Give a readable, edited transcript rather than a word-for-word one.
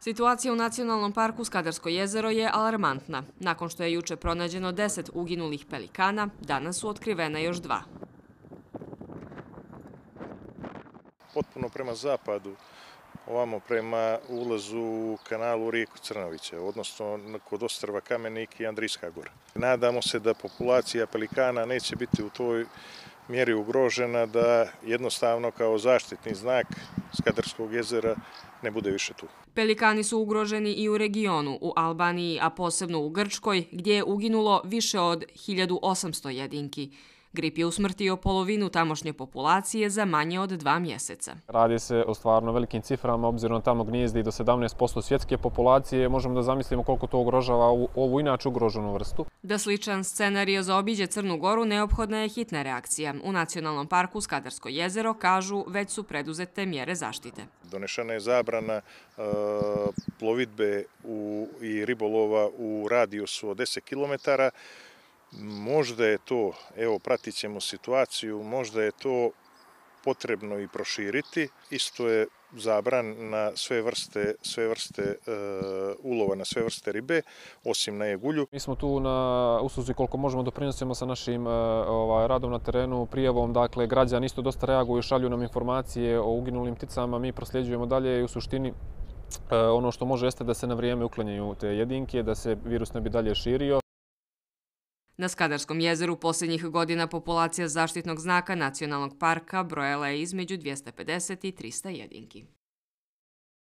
Situacija u Nacionalnom parku Skadarsko jezero je alarmantna. Nakon što je juče pronađeno 10 uginulih pelikana, danas su otkrivena još 2. Potpuno prema zapadu, ovamo prema ulazu u kanalu rijeku Crnoviće, odnosno kod ostrva Kamenik i Andrijska gora. Nadamo se da populacija pelikana neće biti u toj mjeri ugrožena, da jednostavno kao zaštitni znak Skadarskog jezera ne bude više tu. Pelikani su ugroženi i u regionu, u Albaniji, a posebno u Grčkoj, gdje je uginulo više od 1800 jedinki. Grip je usmrtio polovinu tamošnje populacije za manje od 2 mjeseca. Radi se o stvarno velikim ciframa, obzirom tamo gnijezdi do 17% svjetske populacije. Možemo da zamislimo koliko to ugrožava ovu inače ugroženu vrstu. Da sličan scenario zaobiđe Crnu Goru, neophodna je hitna reakcija. U Nacionalnom parku Skadarsko jezero, kažu, već su preduzete mjere zaštite. Donešena je zabrana plovidbe i ribolova u radijusu od 10 km. Možda je to, evo pratit ćemo situaciju, možda je to potrebno i proširiti. Isto je zabran na sve vrste ulova, na sve vrste ribe, osim na jegulju. Mi smo tu na usluzi koliko možemo doprinosimo sa našim radom na terenu, prijavom. Dakle, građani isto dosta reaguju, šalju nam informacije o uginulim pticama, mi prosljeđujemo dalje i u suštini ono što može jeste da se na vrijeme uklanjaju te jedinke, da se virus ne bi dalje širio. Na Skadarskom jezeru posljednjih godina populacija zaštitnog znaka Nacionalnog parka brojala je između 250 i 300 jedinki.